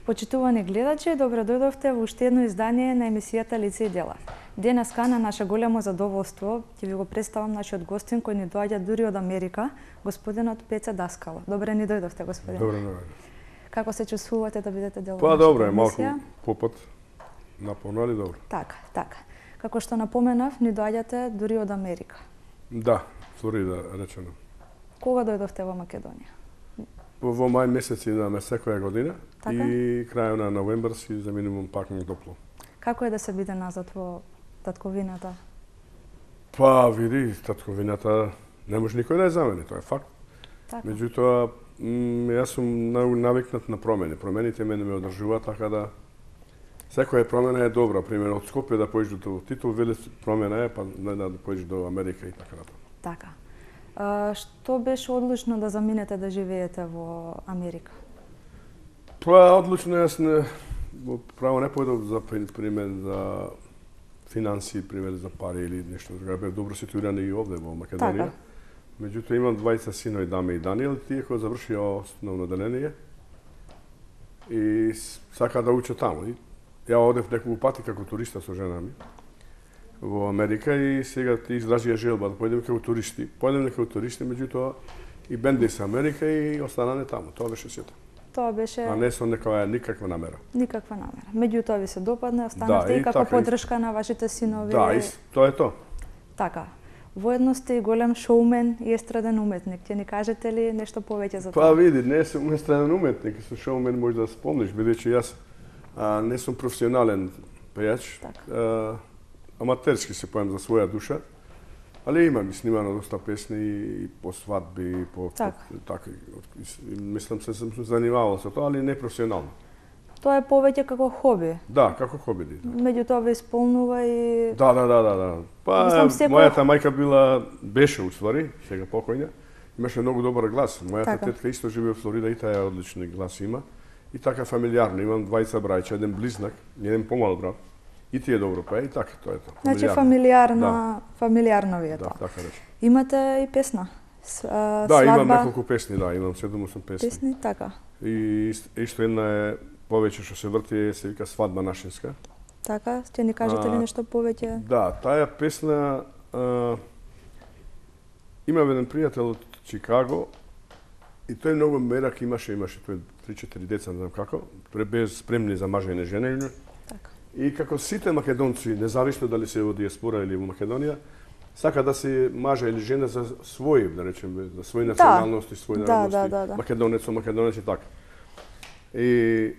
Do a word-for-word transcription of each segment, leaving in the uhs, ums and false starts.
Почитувани гледачи, добро дојдовте во уште едно издание на емисијата Лице и дела. Денеска на наше големо задоволство ќе ви го представам нашиот гостин кој ни доаѓа дури од Америка, господинот Пеце Даскало. Добре ни дојдовте, господин. Добре, добре. Како се чувствувате да бидете дел од Па нашата добро е, емисија? малку попат напонали добро. Така, така. Како што напоменав, ни доаѓате дури од Америка. Да, Флорида речено. Кога дојдовте во Македонија? Во мај месец идаме секоја година Така? и крајот на новембар си за минимум пак на топло. Како е да се биде назад во татковината? Па види, татковината не може никој да ја замени, тоа е факт. Така. Меѓутоа, м, јас сум навикнат на промени. Промените мене ме одржуваат, така да секоја промена е добра. Пример, од Скопје да појдеш до Титул, веле промена е, па не да појдеш до Америка и така натаму. Така. А, што беше одлучно да заминете да живеете во Америка? Па одлучно јас не во право не појдов за пример за финанси, пример за пари или нешто друго. Бев добро ситуиран и овде во Македонија. Така. Меѓутоа имам двајца синови, Даме и Даниел, тие кои завршија основно деление и сака да учат таму. И ја одев неколку пати како туриста со жена ми во Америка и сега ти изразија желба да појдеме како туристи. Појдеме како туристи, меѓутоа и бенди се Америка и останане таму. Тоа беше сето. Тоа беше А не со некоја никаква намера. никаква намера. Меѓутоа ви се допадна, останавте Да, и и како така, поддршка на вашите синови. Да, и с- тоа е тоа. Така. Воедно сте и голем шоумен и естраден уметник. Ќе ни кажете ли нешто повеќе за Па тоа? види, не сум естраден уметник, со шоумен може да спомниш, бидејќи јас а, не сум професионален пејач. Така. А, аматерски се поем за своја душа, али имам и снимано доста песни и по свадби, и по Така. по- така и, и мислам се сум се занимавал со тоа, али не професионално. Тоа е повеќе како хоби. Да, како хоби. Да. Меѓутоа ве исполнува и Да, да, да, да, да. Па Мислам, секој- мојата мајка била беше уствари, сега покојна. Имаше многу добар глас. Мојата Така. тетка исто живее во Флорида и таа одличен глас има. И така фамилиарно, имам двајца браќа, еден близнак, еден помал брат. И тие добро пее и така тоа е тоа. значи Фамилиарно. фамилиарно, фамилиарно ви е Да, тоа. така рече. Имате и песна. С, а, Да, имам свадба, неколку песни, да, имам седум-осум песни. песни, така. И ист- исто една е повеќе што се врти, се вика Свадба нашинска. Така, ќе ни кажете ли А, нешто повеќе? Да, таа песна а, има еден пријател од Чикаго и тој многу мерак имаше, имаше тој три-четири деца, не знам како, тој без спремни за мажење женење. Така. И како сите македонци, независно дали се во диаспора или во Македонија, сака да се мажа или жена за своји, да речеме, за своји националности, своји Да, народности, да, да, да. македонец со македонец и така. И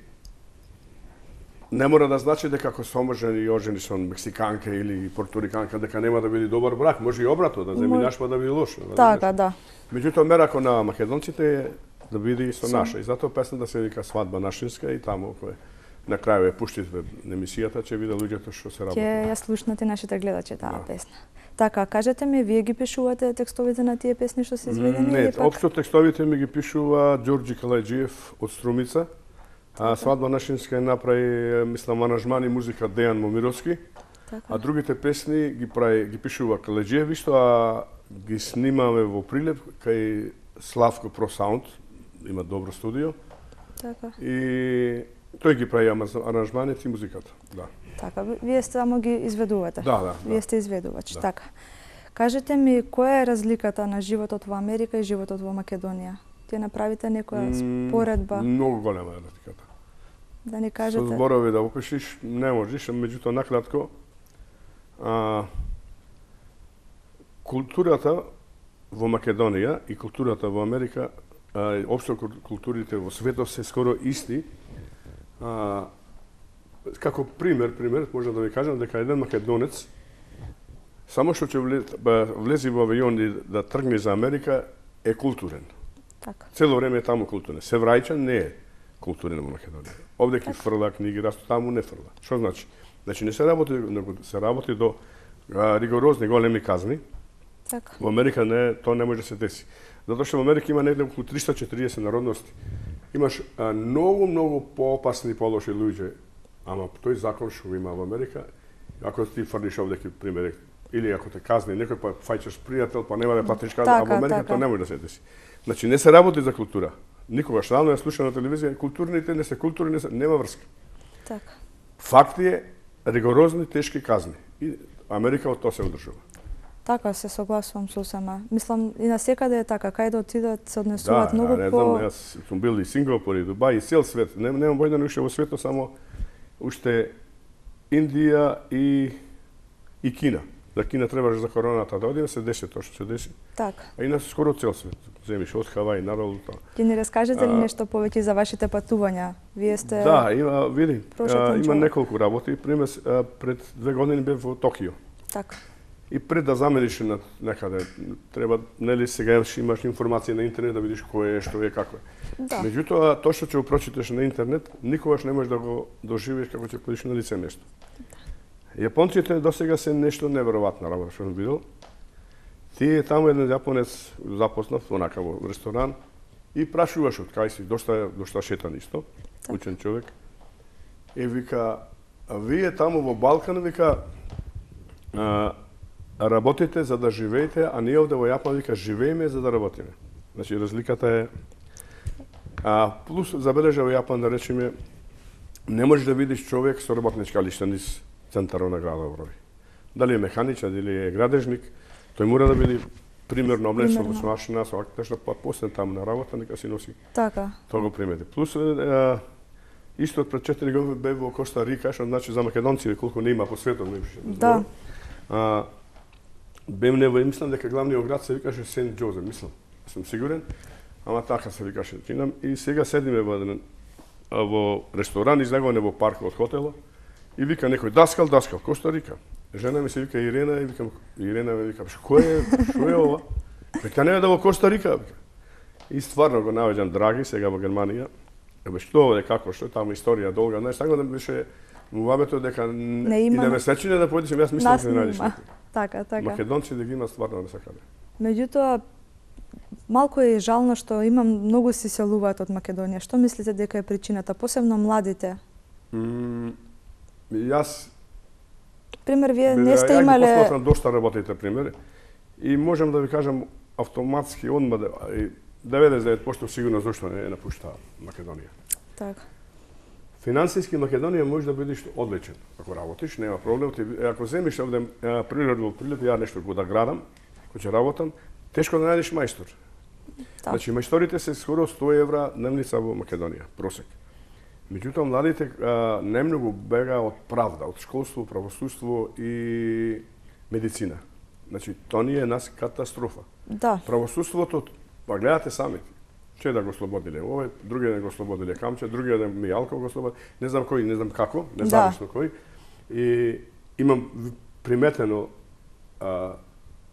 не мора да значи дека ако се омажени и ожени со мексиканка или порториканка дека нема да биде добар брак, може и обратно, да земјинаш па да биде лошо. Така, да. Меѓутоа мерако на македонците е да биде и со Со- наша. И затоа песната се вика Свадба нашинска и таму кој на крај ја пуштите на емисијата ќе виде луѓето што се работи. Ќе ја слушнате нашите гледачи таа Да. песна. Така, кажете ми, вие ги пишувате текстовите на тие песни што се изведени Не, или пак? општо текстовите ми ги пишува Ѓорѓи Калајџиев од Струмица. А Свадба нашинска е направи, мислам, аранжман и музика Дејан Момировски. Така. А другите песни ги прави, ги пишува Калајџиев исто, а ги снимаме во Прилеп кај Славко Про Саунд, има добро студио. Така. И тој ги прави амаз- аранжманите и музиката. Да. Така, ви- вие само ги изведувате. Да, да, Вие да. сте изведувач, Да. така. Кажете ми, која е разликата на животот во Америка и животот во Македонија? Ќе направите некоја М, споредба, Многу голема е разликата. да ни Со кажете? зборови да опишиш не можеш, меѓутоа накратко а, културата во Македонија и културата во Америка, а, општо кул- културите во светот се скоро исти. А, како пример, пример може да ви кажам дека еден македонец само што ќе влез, ба, влези во авион и да тргне за Америка е културен. Така. Цело време е таму културен. Се враќа не е културен во Македонија. Овде ќе фрла книги, расто таму не фрла. Што значи? Значи не се работи, него се работи до а, ригорозни големи казни. Така. Во Америка не, тоа не може да се деси. Затоа што во Америка има негде околу триста и четириесет народности. Имаш а, многу, многу поопасни и полоши луѓе, ама тој закон што го има во Америка, ако ти фрлиш овде ки пример, или ако те казни некој па фаќаш пријател, па нема да платиш казна, а во Така, Америка така. тоа не може да се деси. Значи не се работи за култура. Никогаш рано ја слушам на телевизија, културните не се културни, не се, нема врска. Така. Факт е ригорозни тешки казни и Америка од тоа се одржува. Така, се согласувам сосема. Мислам и на секаде е така, кај да отидат се однесуваат да, многу да, не по... знам, јас сум бил и Сингапур и Дубај и цел свет. Не, немам војна уште во светот, само уште Индија и и Кина. За Кина требаше за короната да одиме, се деше тоа што се деши. Така. А иначе скоро цел свет. Земиш од Хавај надолу тоа. Ќе ни раскажете ли нешто повеќе за вашите патувања? Вие сте... Да, има, види, а, има човек. неколку работи. Пример, а, пред две години бев во Токио. Така. И пред да замениш на некаде, треба, нели сега ще имаш информација на интернет да видиш кој е, што е, како е. Да. Меѓутоа, тоа што ќе го прочиташ на интернет, никогаш не можеш да го доживиш како ќе подиш на лице нешто. Јапонците досега се нешто неверојатна работа што сум видел. Ти таму еден јапонец запознав, онака во ресторан, и прашуваш од кај си, дошта, дошта шетан исто, учен човек. И вика, а вие таму во Балкан, вика, а, работите за да живеете, а ние овде во Јапон, вика, живееме за да работиме. Значи, разликата е... А, плюс, забележа во Јапон, да речеме, не можеш да видиш човек со работничка лишта низ центарот на градот Врови. Дали е механичар, дали е градежник, тој мора да биде примерно облечен со машина, со актешна, па после таму на работа, нека си носи. Така. Тоа го примети. Плюс, е, исто пред четири години бев во Коста Рика, што значи за македонци колку не има по светот, не беше. Да. А, бем не во, мислам дека главниот град се викаше Сент Џозеф, мислам. Сум сигурен. Ама така се викаше. Чинам и сега седиме во еден во ресторан излегуване во паркот од хотелот и вика некој даскал, даскал, Коста Рика. Жена ми се вика Ирена и викам Ирена ми вика што е, што е ова? Вика не е да во Коста Рика. И стварно го наоѓам драги сега во Германија. Ебе што е како што е таму историја долга, знаеш, така да беше муабето дека не има... и да ме сечине да појдеш, јас мислам дека не најдеш. Така, така. Македонци да ги има стварно не сакале. Меѓутоа, малку е жално што има многу се селуваат од Македонија. Што мислите дека е причината, посебно младите? Mm, јас пример вие не ја, сте ја имале... Ја ги посматрам дошта работите примери и можам да ви кажам автоматски одма деветдесет и девет проценти сигурно зашто не напушта Македонија. Така. Финансиски Македонија може да бидеш одличен. Ако работиш, нема проблем. Ти, ако земиш овде природ во прилеп, ја нешто го да градам, кој ќе работам, тешко да најдеш мајстор. Да. Значи, мајсторите се скоро сто евра дневница во Македонија, просек. Меѓутоа, младите а, немногу бега од правда, од школство, правосудство и медицина. Значи, тоа ни е нас катастрофа. Да. Правосудството, па гледате самите. Че да го слободиле овој, другиот ден го слободиле Камче, другиот ден Мијалков го слободиле, не знам кој, не знам како, не знам што кој. И имам приметено, а,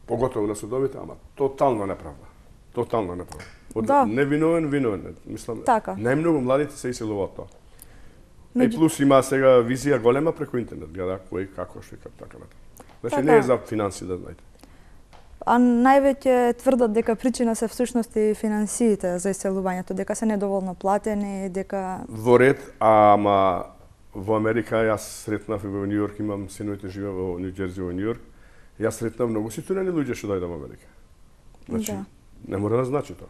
поготово на судовите, ама тотално неправда. Тотално неправда. Од да. невиновен, виновен. Мислам, така. најмногу младите се иселуваат тоа. Меѓу... И плюс има сега визија голема преку интернет, гледа кој, како, што и како, така натаму. Значи, така. не е за финанси, да знаете. А највеќе тврдат дека причина се всушност и финансиите за иселувањето, дека се недоволно платени, дека... Во ред, ама во Америка јас сретнав и во Нью Йорк, имам синовите живеа во Нью Џерси, во Нью Йорк. Јас сретнав многу ситуирани луѓе што дојдат во Америка. Значи, да. не мора да значи тоа.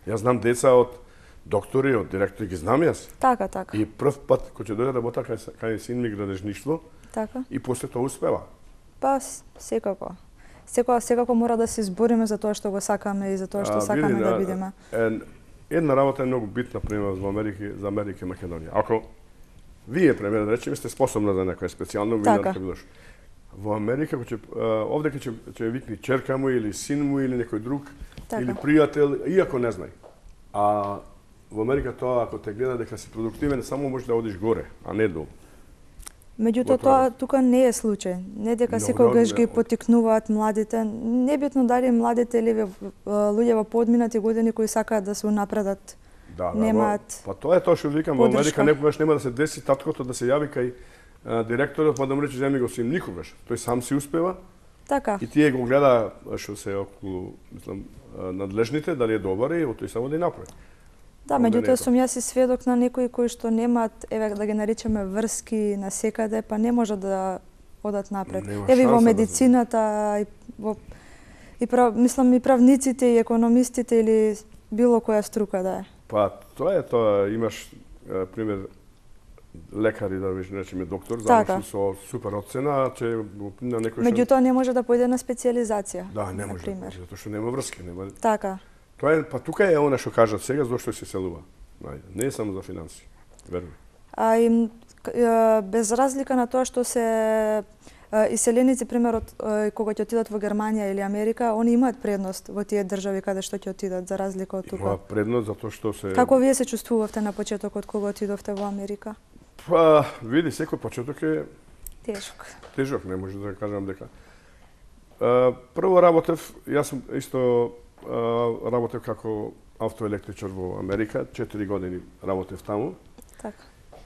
Јас знам деца од доктори, од директори, ги знам јас. Така, така. И прв пат кој ќе дојде работа кај, кај син ми градежништво, така. И после тоа успева. Па, секако. Секако, секако мора да се избориме за тоа што го сакаме и за тоа што а, сакаме види, да бидеме. Една работа е многу битна, пример, за Америка, за Америка и Македонија. Ако вие, пример, да речеме, сте способна за некоја специјално така. Вина, во Америка, ќе, овде ќе ќе викни черка му или син му или некој друг, така. Или пријател, иако не знај. А во Америка тоа, ако те гледа дека си продуктивен, само можеш да одиш горе, а не долу. Меѓутоа тоа тука не е случај. Не дека no, секогаш no, ги поттикнуваат младите, небитно дали младите или луѓе во подминати години кои сакаат да се унапредат. Да, немаат. Да, па тоа е тоа што викам, во Америка некогаш нема да се деси таткото да се јави кај а, директорот па да му рече земи го син, никогаш. Тој сам си успева. Така. И тие го гледа што се околу, мислам, надлежните дали е добар и тој само да ја направи. Да, меѓутоа сум јас и сведок на некои кои што немаат, еве да ги наречеме врски на секаде, па не може да одат напред. Еве во медицината да... и во и прав, мислам и правниците и економистите или било која струка да е. Па тоа е тоа, имаш е, пример лекари, да виж, речеме доктор, Така. заврши со супер оцена, че на некој Меѓутоа не може да појде на специјализација. Да, не може, например. затоа што нема врски, нема. Така. Тоа е, па тука е она што кажат сега зошто се селува. Најде, не е само за финанси. Верно. А им к- е, без разлика на тоа што се е, иселеници, пример, од, е, кога ќе отидат во Германија или Америка, они имаат предност во тие држави каде што ќе отидат, за разлика од Има тука. предност затоа што се Како вие се чувствувавте на почетокот кога отидовте во Америка? Па, види, секој почеток е Тешок. тежок, не може да кажам дека. А, прво работев, јас сум исто а, работев како автоелектричар во Америка, четири години работев таму. Така.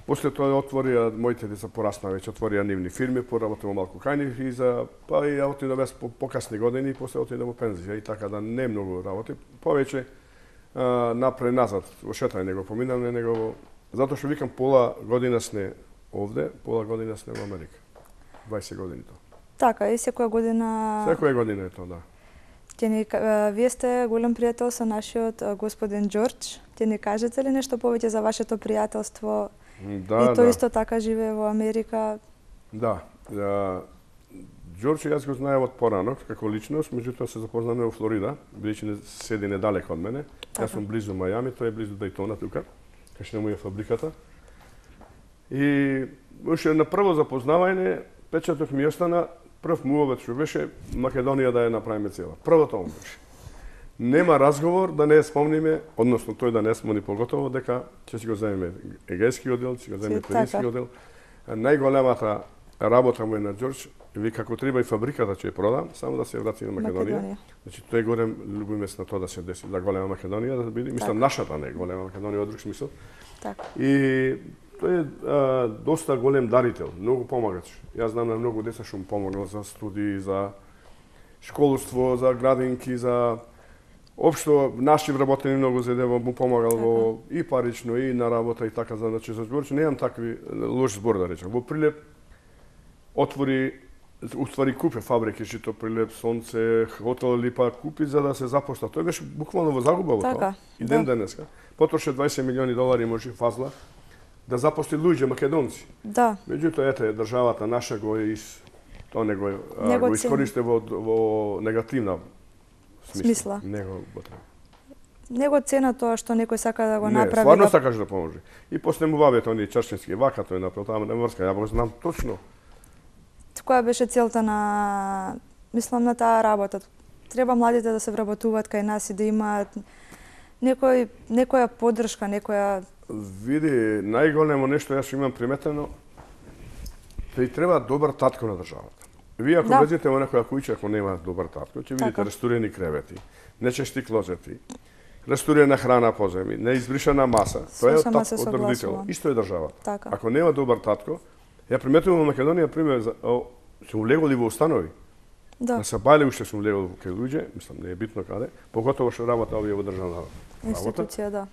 После тоа отворија, моите деца порасна веќе, отворија нивни фирми, поработев малку кај нив и за, па и ја отидов јас по покасни години и после отидов во пензија и така да не многу работи. Повеќе а, напред назад, во шетање него поминавме, него во... Затоа што викам пола година сне овде, пола година сне во Америка. дваесет години тоа. Така, и секоја година... Секоја година е тоа, да. Ќе ни, ка- вие сте голем пријател со нашиот а, господин Џорџ. Ќе ни кажете ли нешто повеќе за вашето пријателство? Да, и тој да. исто така живее во Америка. Да. да. Џорџ јас го знаев од порано како личност, меѓутоа се запознавме во Флорида, бидејќи не седи недалеко од мене. Така. Јас сум близу Мајами, тој е близу Дејтона тука, кај што му е фабриката. И уште на прво запознавање печатот ми остана прв муавет што беше Македонија да ја направиме цела. Првото ом беше. Нема разговор да не спомниме, односно тој да не спомни поготово дека ќе си го земеме егејски оддел, ќе го земеме Си, пирински така. оддел. А најголемата работа му е на Џорџ, ви како треба и фабриката ќе ја продам, само да се врати на Македонија. Македонија. Значи тој голем љубимес на тоа да се деси, да голема Македонија да биде, мислам нашата не голема Македонија од друг смисол. Така. И тој е а, доста голем дарител, многу помагач. Јас знам на многу деца што му помогнал за студии, за школство, за градинки, за општо наши вработени многу за да му помагал во и парично и на работа и така, значи за Џорџ немам такви лош збор да речам. Во Прилеп отвори, уствари купи фабрики, Жито Прилеп, Сонце, хотел Липа купи за да се запошта. Тој беше буквално во загуба во Така, тоа. И ден да. денеска. Потроше дваесет милиони долари може фазла да запошти луѓе македонци. Да. Меѓутоа ете државата наша го из тоа не го, а, Не го го цени. искористи во во негативна смисла. Смисла. Не го потреба. Него цена тоа што некој сака да го Не, направи. стварно да... сакаш да поможи. И после му бавите они чарчински вака, тој направил таму на врска, ја го знам точно. Која беше целта на, мислам, на таа работа? Треба младите да се вработуваат кај нас и да имаат некој, некоја поддршка, некоја... Види, најголемо нешто јас имам приметено, тој треба добар татко на државата. Вие ако Да. влезете во некоја куќа, ако нема добар татко, ќе видите Така. растурени кревети, нечисти клозети, растурена храна по земи, неизбришана маса. Тоа е од, Сосема тат, се од родител. согласувам. Исто е државата. Така. Ако нема добар татко, ја приметувам во Македонија, пример, за, о, сум влеголи во установи. Да, На Сабајле уште сум влегол кај луѓе, мислам, не е битно каде, поготово што работа овие во државна работа. институција, да.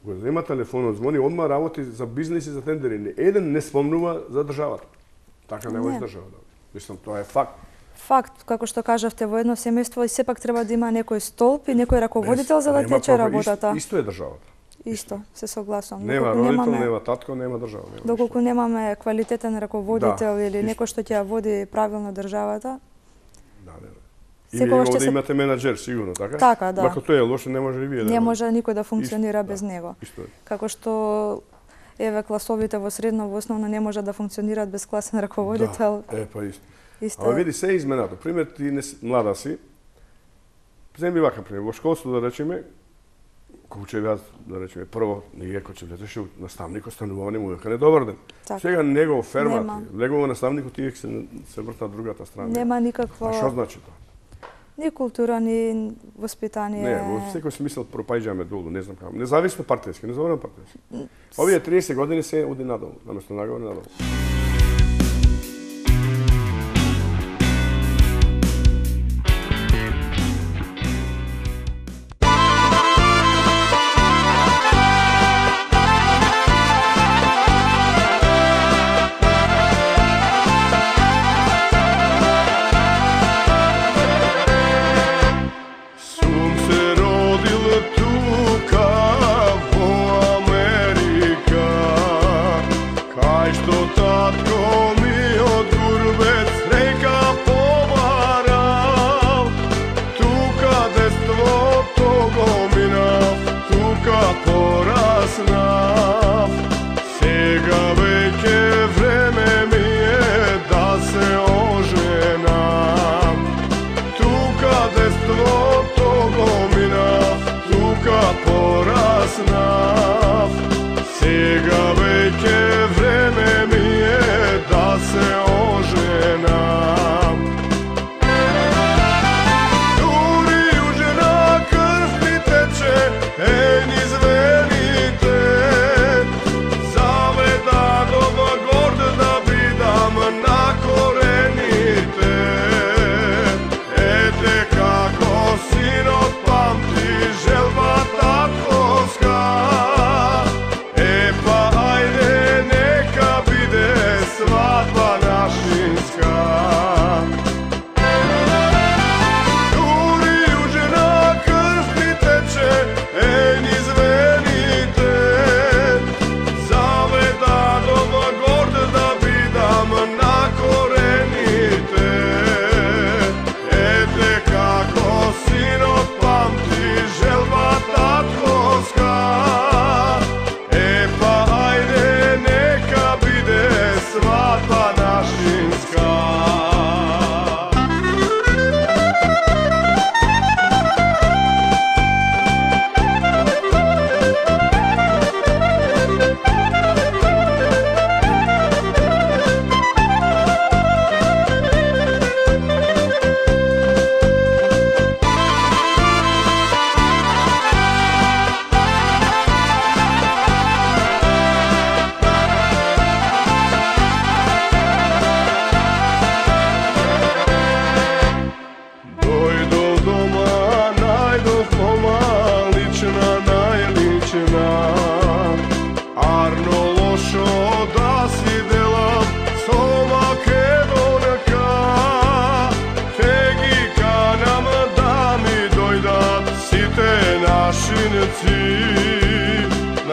Го зема телефонот, звони, одма работи за бизнис и за тендери. Не еден не спомнува за државата. Така не го Не. издржава. Мислам, тоа е факт. Факт, како што кажавте, во едно семејство и сепак треба да има некој столб и некој раководител за да Нема тече пропа- работата. Исто, исто е државата. Исто, се согласувам. Нема Доколку родител, немаме- нема татко, нема држава. Нема Доколку немаме квалитетен раководител Да, или исто. некој што ќе ја води правилно државата, Да, да, да. И Секогаш вие ќе овде се- имате менаџер, сигурно, така? Така, да. Ако тој е лош, не може и вие да не го- може никој да функционира Исто, без да. него. Исто е. Како што еве класовите во средно, во основно не може да функционираат без класен раководител. Да, е, па исто. Исто. Ама види, се е изменато. Пример, ти не си, млада си, земи вака пример, во школство да речеме, кога ќе јас, да речеме, прво, ние кога ќе влезеше наставник, остануване му века не добар ден. Така. Сега него фермат, Нема. легува наставникот тие се се вртат другата страна. Нема А никакво што значи тоа? ни култура, ни воспитание. Не, во секој смисол пропаѓаме долу, не знам како. Независно партијски, не зборам партијски. Овие триесет години се оди надолу, наместо нагоре надолу. Сум се родил тука во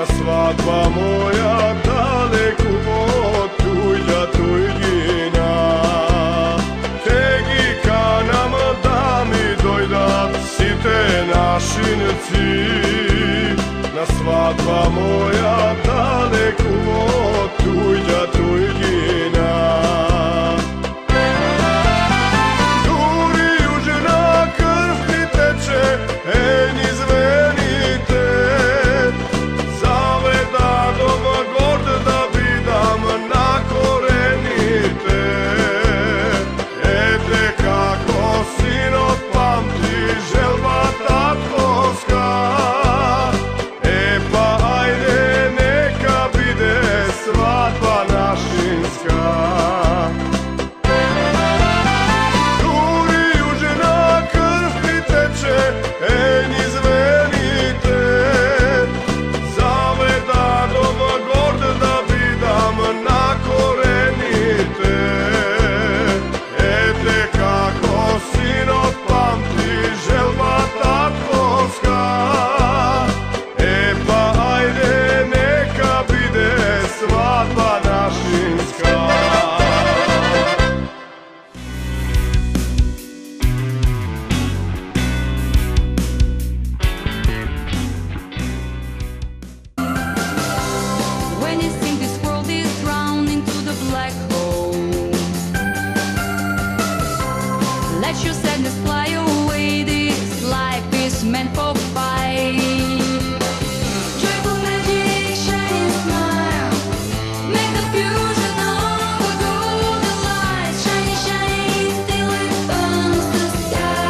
на свадба моја далеку од туѓа туѓина. Те ги канам да ми дојдат сите нашинци, на свадба моја далеку од туѓа туѓина. Дури јужна крв ти тече, е низ вените, заведадом горд да бидам на корените. Ете како синот памти желбата творска, е па ајде нека биде свадба нашинска. Дури јужна крв ти тече, е низ вените, заведадом горд да бидам на корените. Ете како синот памти желбата творска, е па ајде нека биде свадба нашинска. When you think this world is drowned into the black hole, let your sadness fly away. This life is meant for fight. Joyful magic, shining smile, make the fusion of the golden light. Shiny, shiny, till it burns the sky.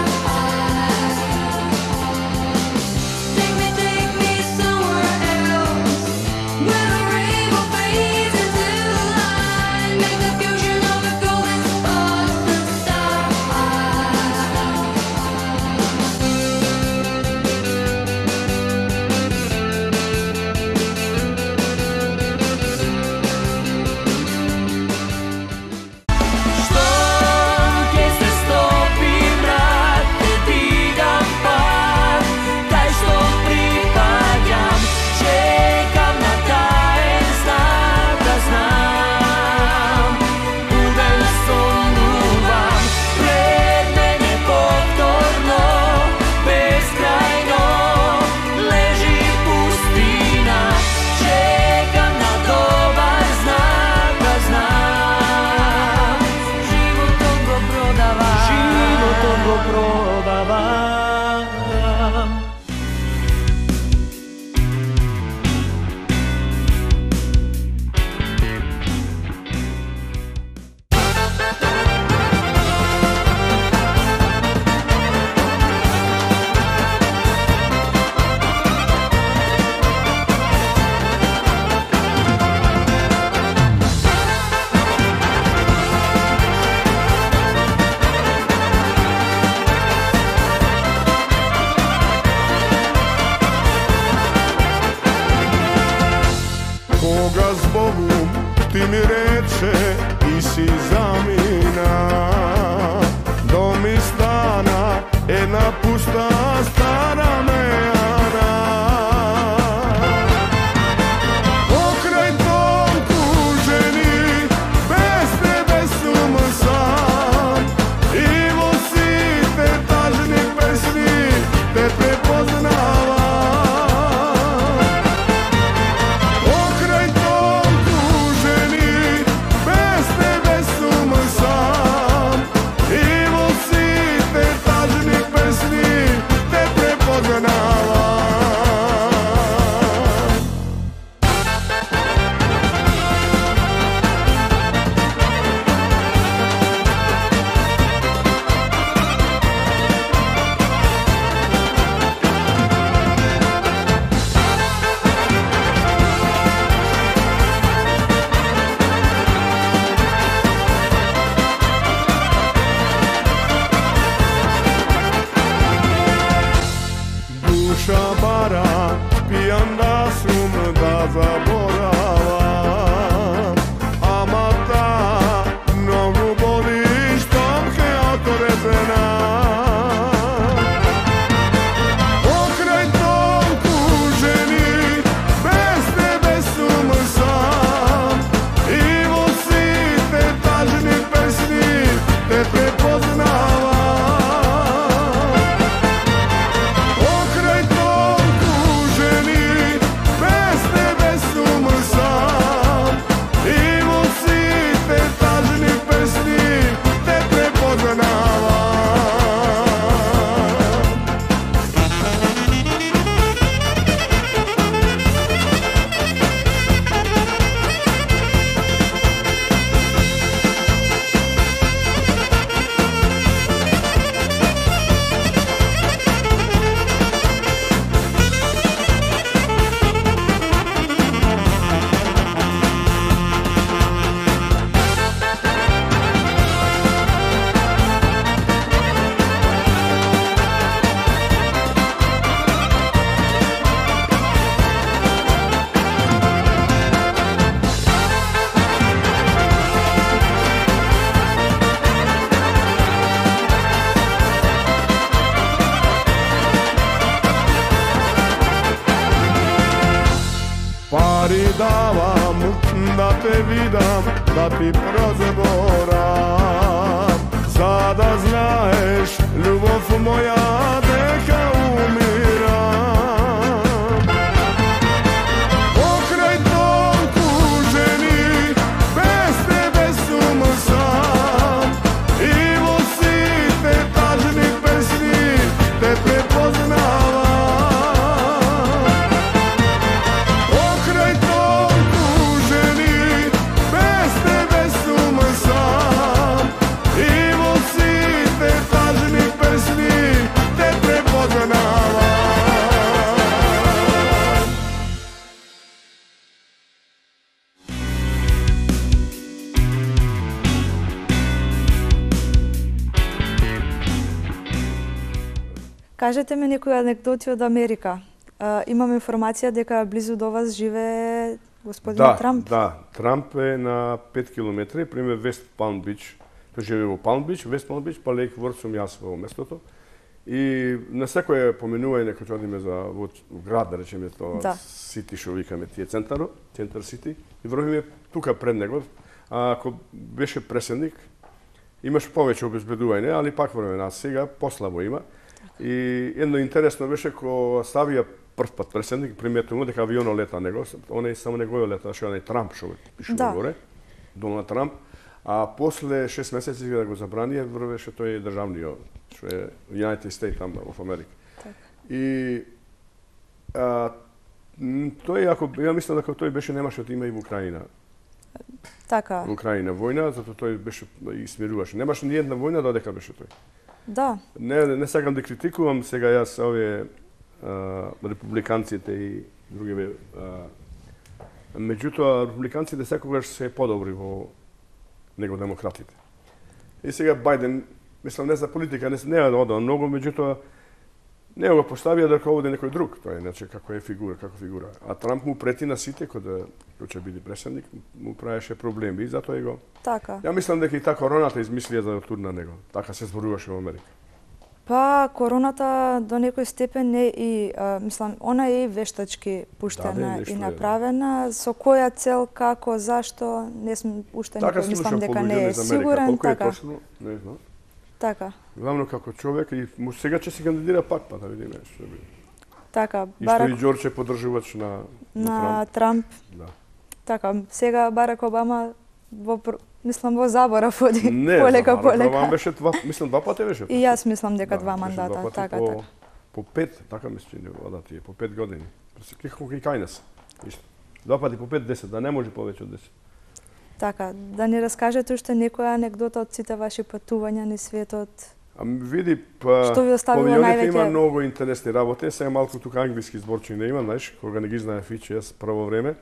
Take me, take me somewhere else, where the rainbow fades into light. Make the fusion of the golden sparks the star. Што ќе се стопи мрак, те дигам пак, кај што припаѓам, чекам на таен знак да знам. Буден сонувам, пред мене повторно, безкрајно лежи пустина, чекам на добар знак да знам. Животот го продавам, животот го продавам. Кога збогум ти ми рече и си замина, дом и стана една пуста стара мејана. Покрај том тужени, без тебе сум сам, и во сите тажни песни те препознавам. Покрај том тужени, без тебе сум сам, и во сите тажни песни те пари давам, да те видам, да ти прозборам. За да знаеш, љубов моја, дека умирам. Покрај толку жени, без тебе сум сам. И во сите тажни песни те препознавам. Покрај толку жени, без тебе сум сам. И во сите тажни песни те препознавам. Кажете ми некои анекдоти од Америка. А, имам информација дека близу до вас живее господин Да, Трамп. да. Трамп е на пет километри, приме Вест Палм Бич. Тој живее во Палм Бич, Вест Палм Бич, па Лейк Ворд сум јас во местото. И на секој поминување кога одиме за во град, да речеме тоа, Да. Сити што викаме тие центаро, центар Сити, и врвиме тука пред него. А ако беше преседник, имаш повеќе обезбедување, али пак време, а сега послабо има. И едно интересно беше кога ставија прв пат преседник, приметувано дека авионот лета него, оне само неговиот лета, што онај Трамп што пише Да. горе, Доналд Трамп, а после шест месеци да го забрани, врвеше тој државниот, што е United States там во Америка. И а, м, тој ако ја мислам дека тој беше немаше да има и во Украина. Така, Во Украина војна, затоа тој беше и смируваше. Немаше ни една војна додека беше тој. да. Не, не сакам да критикувам сега јас овие а, републиканците и другиве. А, меѓутоа, републиканците секогаш се подобри во него демократите. И сега Бајден, мислам не за политика, не, не е да одам многу, меѓутоа не го поставија дека овде некој друг, тоа е иначе како е фигура, како фигура. А Трамп му прети на сите кога кој ќе биде преседник, му правеше проблеми и затоа и го. Така. Ја мислам дека и та короната измислија за да турна него. Така се зборуваше во Америка. Па, короната до некој степен е и, а, мислам, она е и вештачки пуштена Да, нешто и е, да. направена. Со која цел, како, зашто, не сум уште Така некој, мислам слушам дека по не луѓе е из Америка. сигурен, Колку е така. точно, не знам. Така, Главно како човек и му сега ќе се кандидира пак, па да видиме што би. така. И што Барак и Ѓорџ е поддржувач на на Трамп. Трамп. Да. Така, сега Барак Обама во пр- мислам во заборав оди Не, полека Барак Обама полека. беше два, мислам два пати беше. И јас мислам дека Да, два беше мандата, два пати така, по, така. по пет, така ми се чини вода тие, по пет години. Како и кајнес. Исто. Два пати по пет, десет, да не може повеќе од десет. Така, да ни раскажете уште некоја анекдота од сите ваши патувања низ светот. Ами види, па Што ви оставило по авионите највеќе? има многу интересни работи, сега малку тука англиски зборчи не има, знаеш, кога не ги знае фичи, јас прво време.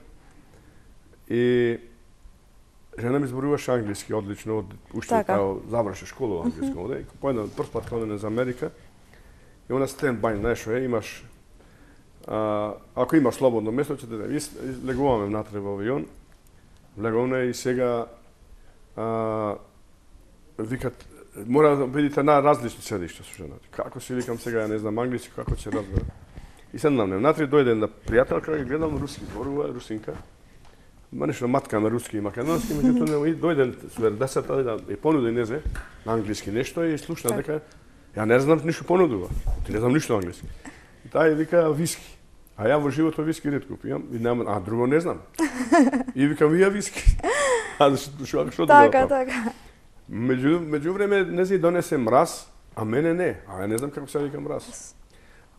И жена ми зборуваше англиски одлично, од уште Така. као заврши школа англиска овде. По еден прв пат кога одиме за Америка, и она стенд бај, знаеш, е, имаш а, ако имаш слободно место, ќе те да легуваме внатре во авион. Влегуваме и сега а, викат мора да бидете на различни седишта со жената. Како си викам сега, ја не знам англиски, како ќе разберам. И седнам внатре, дојде една пријателка, гледам руски, зборува русинка. Ма нешто матка на руски и македонски, меѓутоа и дојде стюардесата да и понуди незе на англиски нешто и слушна дека ја не знам ништо понудува. Ти не знам ништо англиски. И таа вика виски. А ја во животот виски ретко пијам и нема, а друго не знам. И викам вија виски. А што што што Така, така. Меѓу меѓувреме нези донесе мраз, а мене не. А ја не знам како се вика мраз.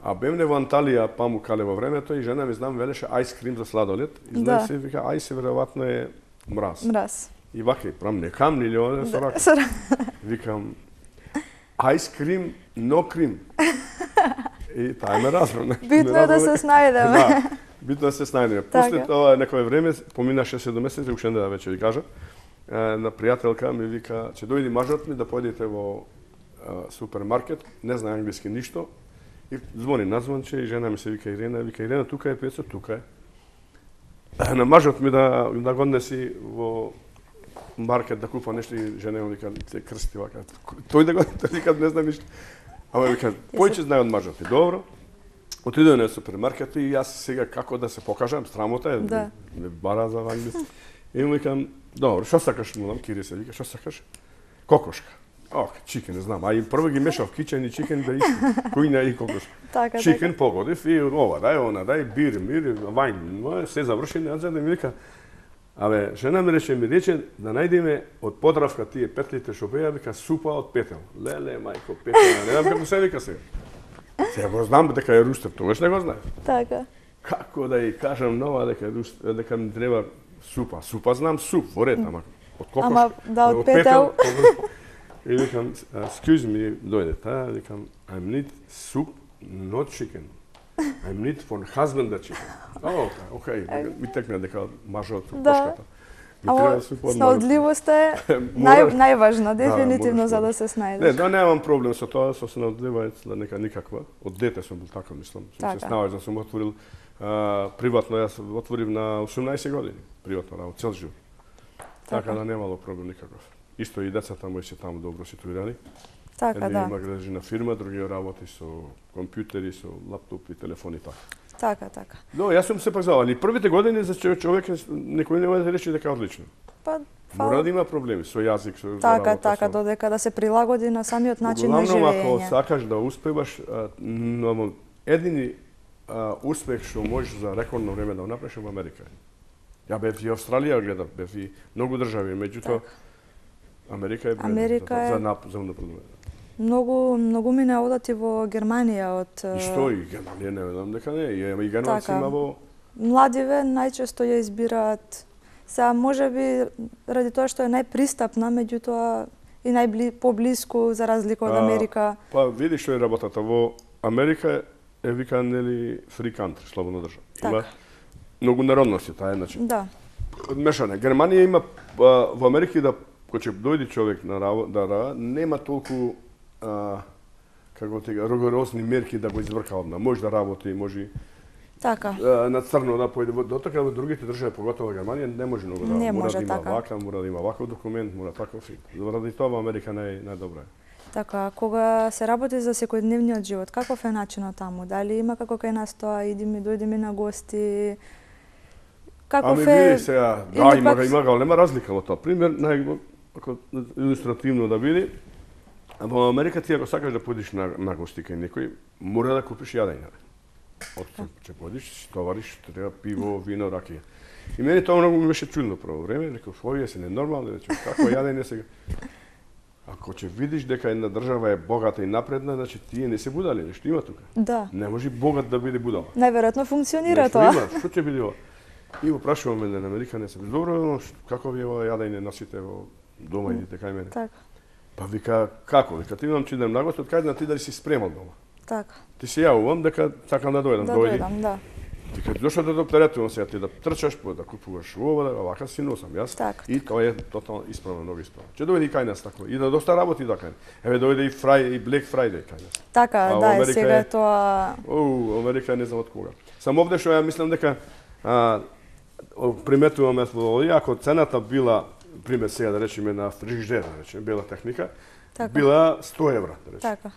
А бемне во Анталија, Памукале во времето и жена ми знам велеше ајскрим за сладолед. И знае Да. се вика ајс веројатно е мраз. Мраз. И вака прам не кам или оне со рака. Со рака. Викам ајскрим, но крим. И таа ме разбра. Битно е да се снајдеме. Да, битно е да се снајдеме. После Така. тоа некое време, поминаше седум месеци, уште не да веќе ви кажа, на пријателка ми вика, ќе дојди мажот ми да појдете во а, супермаркет, не знае англиски ништо, и звони на звонче и жена ми се вика Ирена, вика Ирена тука е Пецо, тука е. На мажот ми да да го однеси во маркет да купа нешто и жена ми вика се крсти вака. Тој да го тој вика не знам ништо. Ама вика појче знае од мажот. И добро. Отидоа на супермаркет и јас сега како да се покажам, срамота е, Да. ме бара за англиски. И му викам, добро, што сакаш, му дам Кири се вика, што сакаш? Кокошка. Ох, чикен, не знам. А и прво ги мешав кичен и чикен да исти. Кујна и кокошка. Така, Чикен погодив и ова, дај она, дај бир, мир, вајн. Се заврши, не да ми вика, абе, жена ми рече, ми рече да најдеме од Подравка тие петлите што беа, вика супа од петел. Леле, мајко, петел, не знам како се вика сега. Сега го знам дека е рустер, тогаш не го знаев. Така. Како да ја кажам нова дека е рустер, дека ми треба супа. Супа знам суп, во ред, ама од кокошка. Ама, да, од петел. И викам, excuse me, дојде та, викам, I need soup, not chicken. I need for husband the chicken. О, окей, ми текна дека мажа од кокошката. Ми Ама треба суп од снаудливоста е Мора- нај, најважна, дефинитивно, мораш за да- да се снајдеш. Не, да немам проблем со тоа, со снаудливањето, нека никаква. Од дете сум бил така, мислам. Сум Така. се снаоѓал, сум отворил а, приватно, јас отворив на осумнаесет години, приватно работа, цел живот. Така Така. да немало проблем никаков. Исто и децата мои се таму добро ситуирани. Така, Еден да. има граđena фирма, други работи со компјутери, со лаптопи, телефони така. Така, така. Но јас сум се пазавал. И првите години за човек, човек е- некој не може да рече дека е одлично. Па, Мора фала. да има проблеми со јазик, со Така, работа, така, со... додека да се прилагоди на самиот начин на Главно, ако живење. сакаш да успеваш, а, но едини а, успех што можеш за рекордно време да го направиш е во Америка. Ја бев и Австралија гледав, бев и многу држави, меѓутоа Америка е бредна Америка за, е- за, нап- за напредување. Многу, многу ми не одат и во Германија од И што и Германија не знам дека не, и и германци Така. има во младиве најчесто ја избираат. Сега може би ради тоа што е најпристапна, меѓутоа и најбли поблиску за разлика од А, Америка. Па види што е работата во Америка е вика нели free country, слободна држава. Има Така. многу народности, таа е значи. Да, Мешане. Германија има а, во Америка да кога ќе дојде човек на работа, да рада, нема толку а, како ти кажа, rigorозни мерки да го изврка одна. Може да работи, може така. а, на црно да појде. Во- Дотока во другите држави, поготово Германија, не може многу да Не мора може да има така. вака, мора да има ваков документ, мора таков. и- Заради тоа во Америка нај најдобра е. Така, кога се работи за секојдневниот живот, каков е начинот таму? Дали има како кај нас тоа, иди ми, дојди ми на гости? Каков Ами е? види сега, да, или има, пак- има голема разлика во тоа. Пример, нај, ако илустративно да биде, во Америка ти ако сакаш да појдеш на, на гости кај некој, мора да купиш јадење. Од ќе појдеш, товариш, треба пиво, вино, ракија. И мене тоа многу ми беше чудно прво време, реков, овие се ненормални, рече, какво јадење сега? Ако ќе видиш дека една држава е богата и напредна, значи тие не се будали, нешто има тука. Да. Не може богат да биде будала. Најверојатно функционира Нешто тоа. има, што ќе биде ова? И го прашуваме на Америка, не се добро, но ш- како ви е ова јадење носите во дома идите кај мене? Така, Па вика, како? Вика, ти имам че идем на гост, од кај да ти дали си спремал дома? така. Ти се јавувам дека сакам да дојдам, Да дојди. дојдам, да. Вика, зошто да дооптеретувам сега ти да трчаш, по да купуваш ова, да вака си носам јас. Така. И тоа е тотално исправно, многу исправно. Ќе дојде и кај нас тако. И да доста работи да кај. Еве дојде и Фрај и Black Friday кај нас. Така, А во да, е, Америка сега е- е тоа... Оу, Америка не знам од кога. Само овде што ја мислам дека а, о, приметуваме во овие, ако цената била, пример сега да речеме на фрижидер, да речеме, бела техника, Така. била сто евра, да речеме. Така.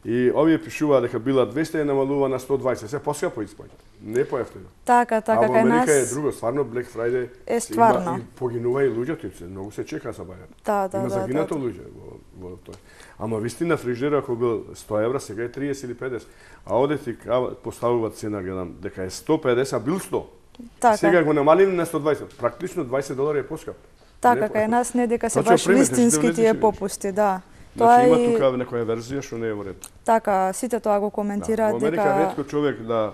И овие пишуваа дека била двесте и намалува на сто дваесет, се поскапо испаѓа. Не поевтино. Така, така, а во кај Америка нас... е друго, стварно Black Friday Е се стварно. Има, и погинува и луѓето, и се многу се чека за бајат. Да, да, Има да, загинато да, да. луѓе во, во тоа. Ама вистина фрижидерот ако бил сто евра, сега е триесет или педесет. А оде ти кава- поставуваат цена, гледам, дека е сто педесет, а бил сто. Така, Сега го намалим на сто дваесет. Практично дваесет долари е поскап. така, Не, кај нас не дека се Значи, баш примете, ќе вистински влезеш и тие видиш. попусти, да. Тоа Значи има и тука некоја верзија што не е во ред. така, сите тоа го Да. коментираат Во Америка дека ретко човек да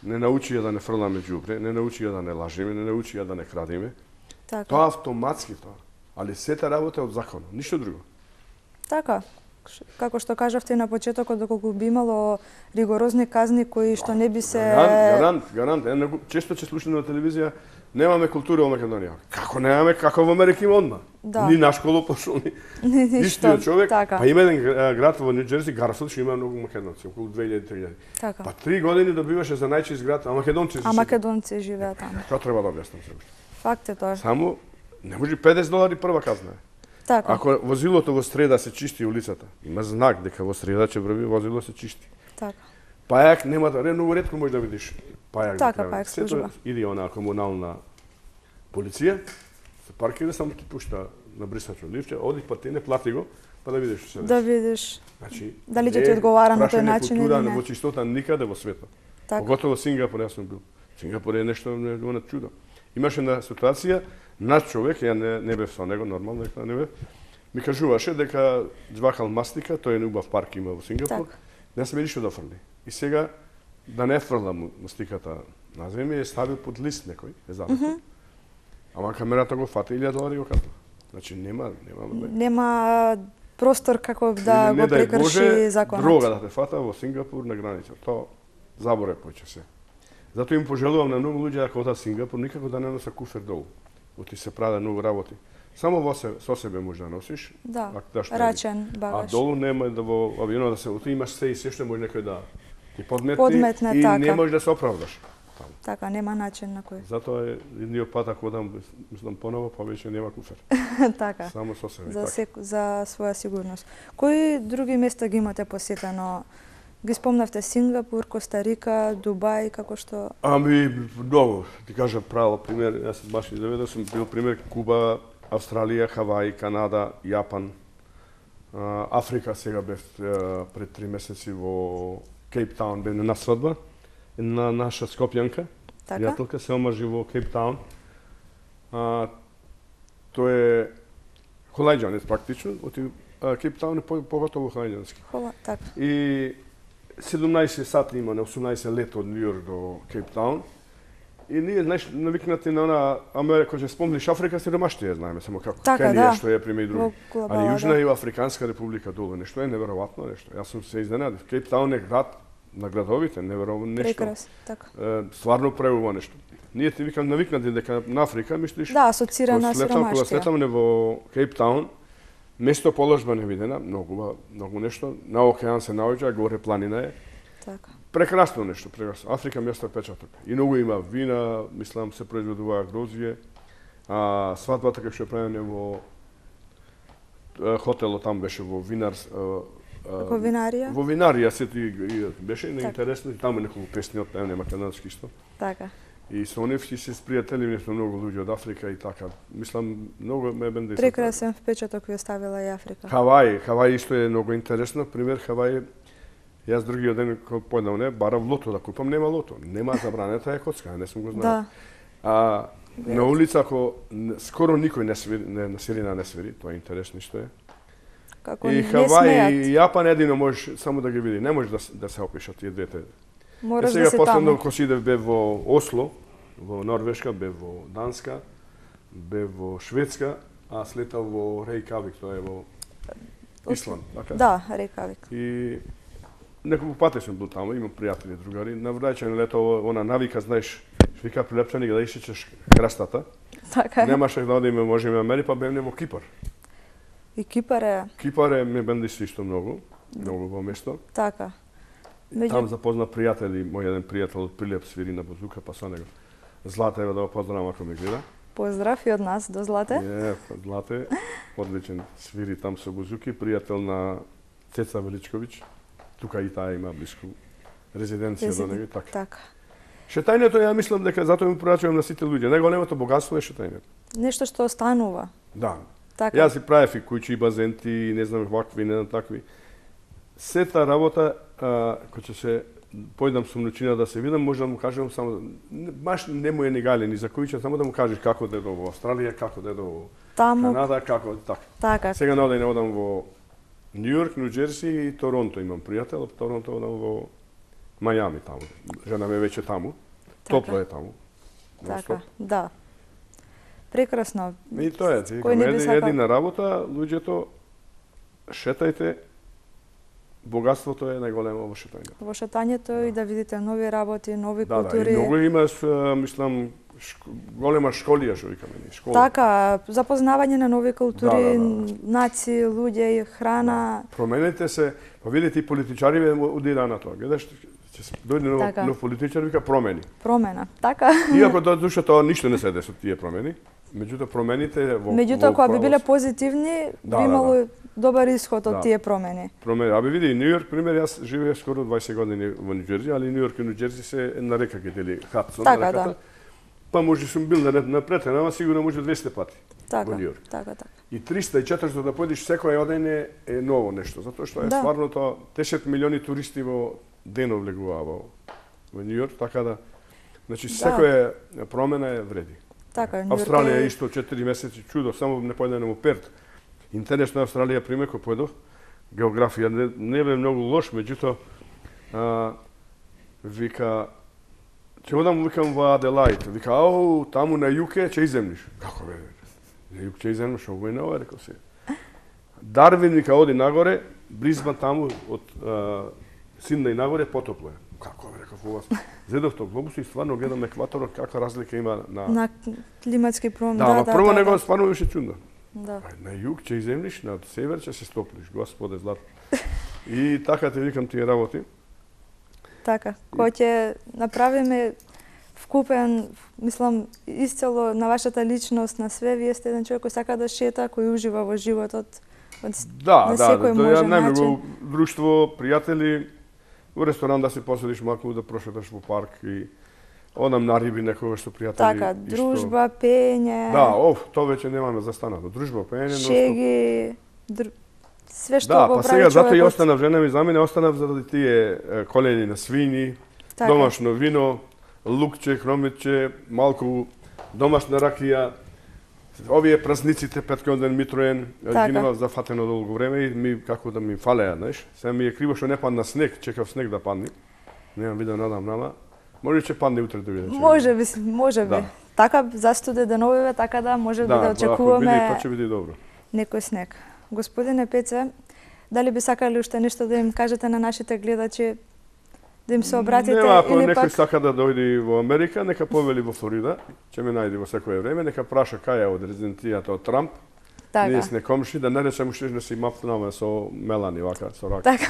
не научи ја да не фрламе ѓубре, не научи ја да не лажеме, не научи ја да не крадеме. така. Тоа автоматски тоа. Али сета работа е од закон, ништо друго. Така. Ш- Како што кажавте на почетокот, доколку би имало ригорозни казни кои што не би се... Гарант, гарант, гарант. Е, него- често ќе слушам на телевизија, немаме култура во Македонија. Како немаме, како во Америка има одма. Да. Ни на школу пошол, ни Ни- ништо. Истиот човек. Така. Па има еден гра- град во Нью Џерси, Гарфилд, што има многу македонци, околу две илјади до три илјади. Така. Па три години добиваше за најчист град, а македонци А македонци живеат таму. Тоа треба да објаснам се уште. Факт е тоа. Само не може педесет долари прва казна. е. Така. Ако возилото во среда се чисти улицата, има знак дека во среда ќе врви возило се чисти. Така. Пајак нема да, многу ретко можеш да видиш пајак. Така, пајак служба. Иди она комунална полиција, се паркира, само ти пушта на брисачо ливче, оди па ти не плати го, па да видиш што се Да деси. видиш Значи, дали ќе ти одговара на тој прашање начин култура или не. во чистота никаде во светот. Така. Поготово Сингапур, јас сум бил. Сингапур е нешто на чудо. Имаше една ситуација, наш човек, ја не, не бев со него, нормално, дека не бев, ми кажуваше дека џвакал мастика, тој е убав парк има во Сингапур, Так. не сме ништо да фрли. И сега, да не фрлам мастиката на земја, е ставил под лист некој, е забавно. Mm -hmm. Ама камерата го фати илјада долари го капна. Значи нема, нема. Нема простор како да Или, го не дај прекрши Боже, законот. дрога да те фата во Сингапур на граница. Тоа заборе поќе се. Затоа им пожелувам на многу луѓе ако одат Сингапур никако да не носа куфер долу. Оти се прават многу работи. Само во се, со себе може да носиш. Да, а да што е. рачен А багаж. долу нема да во авионот да се оти имаш се и се што може некој да ти подметне, Подметне, и така. не можеш да се оправдаш. Таму. Така, нема начин на кој. Затоа е едниот пат ако одам, мислам поново, па веќе нема куфер. Така. Само со себе. За така. сек... за своја сигурност. Кои други места ги имате посетено? Ги спомнавте Сингапур, Коста Рика, Дубај, како што... Ами, многу. Ти кажа право пример, јас баш и доведов сум бил пример Куба, Австралија, Хаваи, Канада, Јапан, а, Африка сега бев а, пред три месеци во Кейптаун, бев на свадба на наша скопјанка. Така? Пријателка се омажи во Кейптаун. А, тој е холајџанец практично, оти Кейптаун е по- поготово холајџански. Хова, така. И седумнаесет сати има на осумнаесет лето од Нью Йорк до Кейптаун. И ние, знаеш, навикнати на она Америка, ќе спомниш Африка, сиромаштија знаеме, само како Така, Кенија, да. што е приме и други. Во глобала, Али Јужна да. и Африканска република долу, нешто е неверојатно нешто. Јас сум се изненадив. Кейптаун е град на градовите, неверојатно нешто. Прекрас, така. Е, стварно преува нешто. Ние ти викам навикнати дека на Африка мислиш. Да, асоцира на Кога слетам, кога сиромаштија. слетам во Кейптаун, место положба не видена, многу многу нешто. На океан се наоѓа, горе планина е. Така. Прекрасно нешто, прекрасно. Африка ми остави печаток. И многу има вина, мислам се произведува грозје. А свадбата кај што е правена во е, хотелот там беше во винар Како винарија? Во винарија се ти и- беше Така. интересно и таму неколку песни од пеене македонски исто. Така. И со нив се спријатели нешто многу луѓе од Африка и така. Мислам многу ме бенде. Прекрасен впечаток ви оставила и Африка. Хаваи, Хаваи исто е многу интересно. Пример Хаваи, јас другиот ден кога појдам не, барав лото да купам, нема лото. Нема забранета е коцка, не сум го знаел. Да. А на улица ако н- скоро никој не свири, не на сирина не свири, тоа е интересно што е. Како И не Хаваи смеат. и Јапан едино можеш само да ги види, не можеш да с- да се опишат тие двете. Мораш Е, да сега си последно таму. кога си идев бев во Осло, во Норвешка, бев во Данска, бев во Шведска, а слетав во Рејкавик, тоа е во Исланд, така? Да, Рейкавик. И неколку пати сум бил таму, имам пријатели, другари. На враќање лето она навика, знаеш, што вика прилепчани да исечеш крастата. Така е. Немаше да одиме, можеме мери, па бевме во Кипар. И Кипар е Кипар е ме бенди исто многу, многу во место. така. Там Меѓу запозна пријатели, мој еден пријател од Прилеп свири на бузука, па со него. Злата ева да го поздравам ако ме гледа. поздрав и од нас до Злате. Е, Злате, одличен свири там со бузуки, пријател на Цеца Величковиќ. Тука и таа има блиску резиденција до него и така. Така. Шетањето ја мислам дека затоа му порачувам на сите луѓе. Најголемото богатство е шетањето. Нешто што останува. Да. Така. Јас си правев и куќи, и базенти, не знам вакви, не знам такви. Сета работа, а, кој ќе се појдам со мночина да се видам, може да му кажам само, не- баш не му е ни гале, ни за којче, само да му кажеш како да е во Австралија, како да е во Таму, Канада, како, така. така. Сега на одење одам во Нью Йорк, Нью Джерси и Торонто имам пријател, од Торонто одам во Мајами таму. Жена ме веќе таму. Топло е таму. Така. Да. Прекрасно. И тоа е, ти Кој не би еди, сакал? едина работа, луѓето шетајте, богатството е најголемо во шетање. Во шетањето и да видите нови работи, нови Да, да, култури. и многу имаш, а, мислам, шко, голема школија што викаме ни, школа. Така, запознавање на нови култури, Да, да, да. нации, луѓе, храна. Променете се, па видите и политичари удира на тоа. Гледаш, ќе се дојде нов, Така. нов политичар вика промени. Промена. Така. Иако до душа тоа ништо не се деси од тие промени. Меѓутоа промените во Меѓутоа, во кога би биле правос- позитивни, Да, би да, имало добар исход од Да. тие промени. Промени. Абе види, Нью Йорк, пример, јас живеев скоро дваесет години во Нью Џерси, али Нью Йорк и Нью Џерси се една река ги дели Хадсон, Така, реката. да. Па може сум бил на напред, ама сигурно може двесте пати Така, во Нью Йорк. така, така. И триста и четириста да појдеш секој ден е, е ново нешто, затоа што е Да. стварно тоа десет милиони туристи во денов влегуваа во во Нью Йорк, така да значи Да. секоја промена е вреди. Така, Нью Йорк Австралија е- исто четири месеци чудо, само не појдено во Перт. Интересно Австралија пример кој појдов, географија не, не бе многу лош, меѓутоа а, вика ќе одам викам во Аделаид, вика ау таму на југ е ќе иземниш. Како бе? На југ ќе иземниш, овој не ова рекол се. Дарвин вика оди нагоре, Бризбан таму од а, Сиднеј нагоре потопло е. Како бе реков ова? Зедовте глобус и стварно гледам екваторот каква разлика има на на климатски промени. Да, Да, ама да, прво да, него да. стварно беше чудно. Да. Ај, на југ ќе иземниш, на север ќе се стоплиш, Господе злат. И така ти викам тие работи. Така, кој ќе направиме вкупен, мислам, исцело на вашата личност, на све, вие сте еден човек кој сака да шета, кој ужива во животот. Од... Да, на да, секој да, ја можен најмногу друштво, пријатели, во ресторан да се поседиш малку, да прошеташ во парк и одам на риби некогаш со пријатели. Така, исто. дружба, пење, Да, оф, тоа веќе немаме застанато. Дружба, пење, но шеги, дру... све што да, го па прави сега затоа и човекот. останав жена ми за мене, останав заради тие е, колени на свињи, Така. домашно вино, лукче, хромитче, малку домашна ракија. Овие празниците петкиот ден Митроен, Така. ги немав зафатено долго време и ми како да ми фалеа, знаеш. Сега ми е криво што не падна снег, чекав снег да падне. Немам видео, надам нама. Може ќе падне утре да видам. Може би, може би. Да. Така застуде деновиве, така да може би да Да, ако биде, очекуваме тоа ќе биде добро. некој снег. Господине Пеце, дали би сакали уште нешто да им кажете на нашите гледачи, да им се обратите Нема, ако или некој пак сака да дојде во Америка, нека повели во Флорида, ќе ме најде во секое време, нека праша кај е од резидентијата од Трамп. така. Ние сме комши, да не речем уште да си мапнаме со Мелани вака, со рака. Така.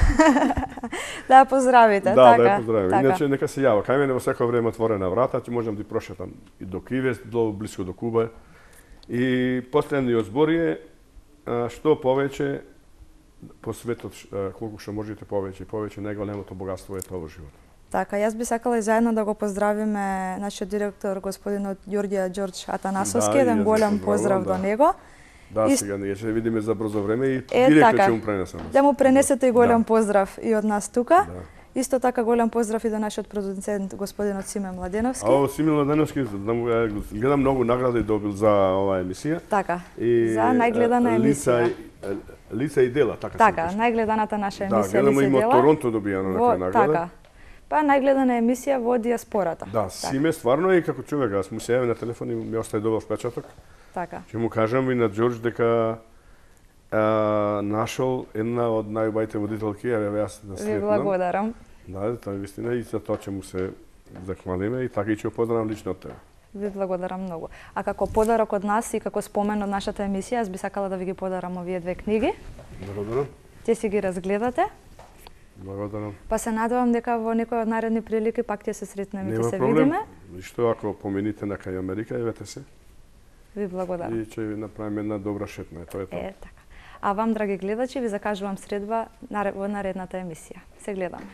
Да ја поздравите, Да, така. да ја поздравим. Така. Иначе нека се јава. Кај мене во секое време отворена врата, ќе можам да ти прошетам и до Кивес, до блиско до Куба. И последниот збор е а, што повеќе по светот, а, колку што можете повеќе и повеќе, најголемото богатство е тоа во животот. Така, јас би сакала и заедно да го поздравиме нашиот директор господинот Ѓорѓија Ѓорџ Атанасовски, Да, и еден јас го голем поздравувам, поздрав да. до него. Да, И- сега ние ќе видиме за брзо време и Е, директно така. ќе му пренесам. Да му пренесете и голем Да. поздрав и од нас тука. Да. Исто така голем поздрав и до нашиот продуцент господинот Симе Младеновски. А ово Симил Ладеновски, гледам многу награди добил за оваа емисија. Така. И За најгледана е, лица емисија. и- лица и дела, така се Така, викаше. најгледаната наша Да, емисија гледам Лице има од дела. Торонто добијано Во, некоја награда. така. Па најгледана емисија во диаспората. Да, Симе стварно и како човек, аз му се јавив на телефон и ми остави добар впечаток. Така. Ќе му кажам и на Ѓорџ дека а, нашол една од најубавите водителки, еве јас да Ви сретнам. благодарам. Да, тоа е вистина и за тоа ќе му се захвалиме и така и ќе поздравам лично од тебе. Ви благодарам многу. А како подарок од нас и како спомен од нашата емисија, јас би сакала да ви ги подарам овие две книги. Благодарам. Ќе си ги разгледате, Благодарам. па се надевам дека во некој од наредни прилики пак ќе се сретнеме и ќе Нема се проблем. видиме. И што ако помените на кај Америка, евете се Ви благодарам. и ќе ви направиме една добра шетна. Тоа е тоа. Е, така. А вам, драги гледачи, ви закажувам средба во наредната емисија. Се гледаме.